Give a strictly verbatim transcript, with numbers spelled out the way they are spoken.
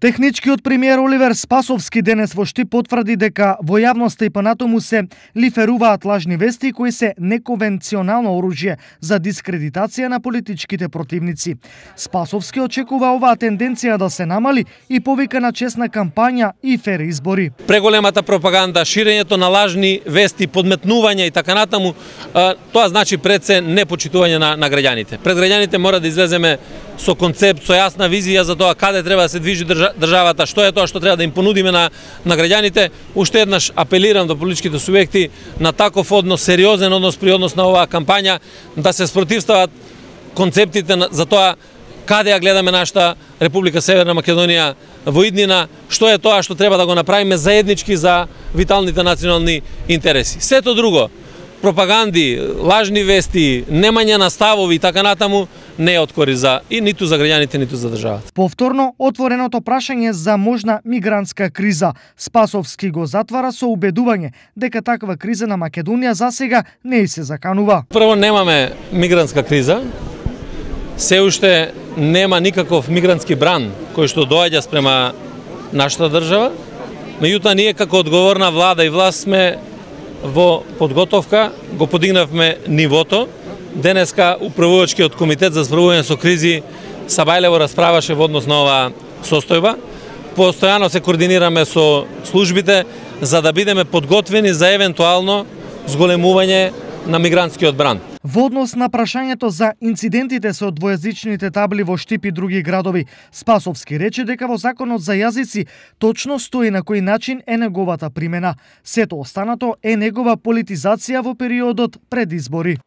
Техничкиот премиер Оливер Спасовски денес во Штип потврди дека во јавноста и понатаму се лиферуваат лажни вести кои се неконвенционално оружје за дискредитација на политичките противници. Спасовски очекува оваа тенденција да се намали и повика на честна кампања и фер избори. Преголемата пропаганда, ширењето на лажни вести, подметнување и така натаму, тоа значи пред се непочитување на, на граѓаните. Пред граѓаните мора да излеземе со концепт, со јасна визија за тоа каде треба да се движи државата, што е тоа што треба да им понудиме на, на граѓаните. Уште еднаш апелирам до политичките субјекти на таков однос, сериозен однос при однос на оваа кампања, да се спротивстават концептите за тоа каде ја гледаме нашата Република Северна Македонија во иднина, што е тоа што треба да го направиме заеднички за виталните национални интереси. Сето друго, пропаганди, лажни вести, немање на ставови и така натаму, не е од корист за и ниту за граѓаните, ниту за државата. Повторно отвореното прашање за можна мигрантска криза. Спасовски го затвара со убедување дека таква криза на Македонија засега не и се заканува. Прво, немаме мигрантска криза. Се уште нема никаков мигрантски бран кој што доаѓа спрема нашата држава. Меѓутоа, ние како одговорна влада и власт сме во подготовка, го подигнавме нивото. Денеска управувачкиот комитет за справување со кризи Сабајлево расправаше во однос на оваа состојба. Постојано се координираме со службите за да бидеме подготвени за евентуално зголемување на мигрантскиот бран. Во однос на прашањето за инцидентите со двојазичните табли во Штип и други градови, Спасовски рече дека во Законот за јазици точно стои на кој начин е неговата примена. Сето останато е негова политизација во периодот пред избори.